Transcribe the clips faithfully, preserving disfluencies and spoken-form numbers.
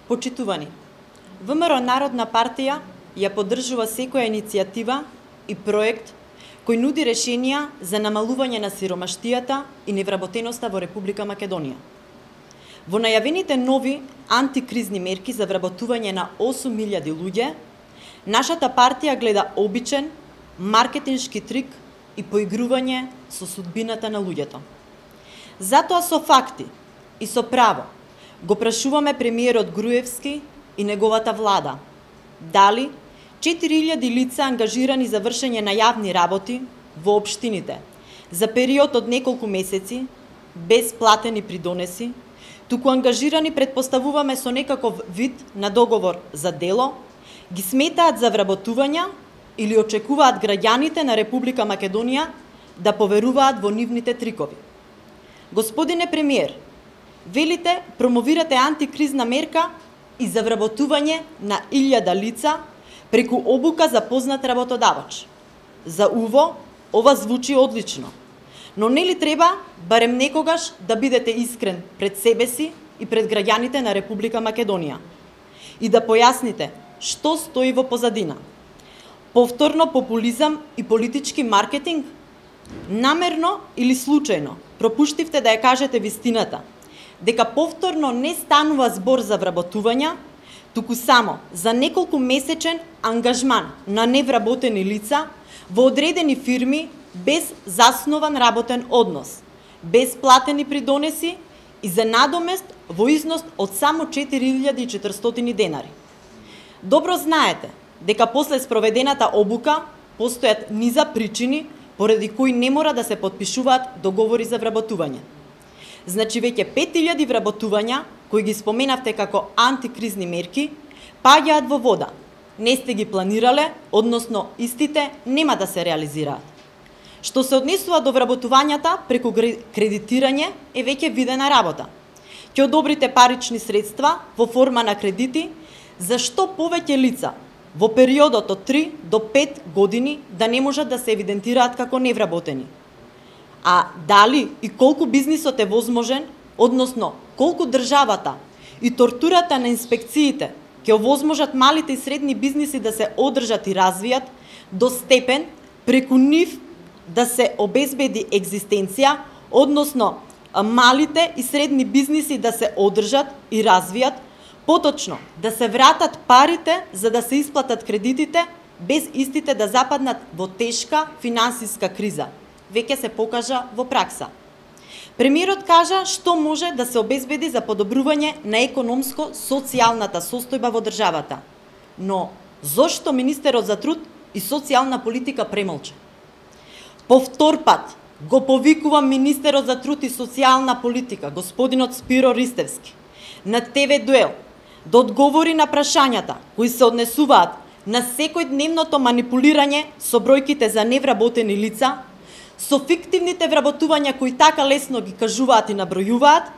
Почитувани, ВМРО Народна партија ја поддржува секоја иницијатива и проект кој нуди решенија за намалување на сиромаштијата и невработеноста во Република Македонија. Во најавените нови антикризни мерки за вработување на осум илјади луѓе, нашата партија гледа обичен маркетиншки трик и поигрување со судбината на луѓето. Затоа со факти и со право го прашуваме премиерот Груевски и неговата влада дали четири илјади лица ангажирани за вршење на јавни работи во општините за период од неколку месеци без платени придонеси, туку ангажирани предпоставуваме со некаков вид на договор за дело, ги сметаат за вработувања или очекуваат граѓаните на Република Македонија да поверуваат во нивните трикови. Господине премиер, велите промовирате антикризна мерка и за вработување на илјада лица преку обука за познат работодавач. За уво, ова звучи одлично, но нели треба барем некогаш да бидете искрен пред себе си и пред граѓаните на Република Македонија и да појасните што стои во позадина. Повторно популизам и политички маркетинг? Намерно или случајно пропуштивте да ја кажете вистината, дека повторно не станува збор за вработувања, туку само за неколку месечен ангажман на невработени лица во одредени фирми без заснован работен однос, без платени придонеси и за надомест во износ од само четири илјади и четиристотини денари. Добро знаете дека после спроведената обука постојат низа причини поради кои не мора да се потпишуваат договори за вработување. Значи веќе пет илјади вработувања, кои ги споменавте како антикризни мерки, паѓаат во вода. Не сте ги планирале, односно истите нема да се реализираат. Што се однесува до вработувањата преку кредитирање е веќе видена работа. Ќе одобрите парични средства во форма на кредити за што повеќе лица во периодот од три до пет години да не можат да се евидентираат како невработени. А дали и колку бизнисот е возможен, односно колку државата и тортурата на инспекциите ќе овозможат малите и средни бизниси да се одржат и развијат до степен преку нив да се обезбеди екзистенција, односно малите и средни бизниси да се одржат и развијат, поточно да се вратат парите за да се исплатат кредитите без истите да западнат во тешка финансиска криза. Веќе се покажа во пракса. Премиерот кажа што може да се обезбеди за подобрување на економско-социјалната состојба во државата. Но зошто министерот за труд и социјална политика премолча? Повтор пат го повикувам министерот за труд и социјална политика, господинот Спиро Ристевски, на Те Ве Дуел да одговори на прашањата кои се однесуваат на секојдневното манипулирање со бројките за невработени лица, со фиктивните вработувања кои така лесно ги кажуваат и набројуваат,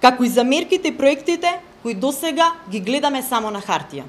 како и за мерките и проектите кои досега ги гледаме само на хартија.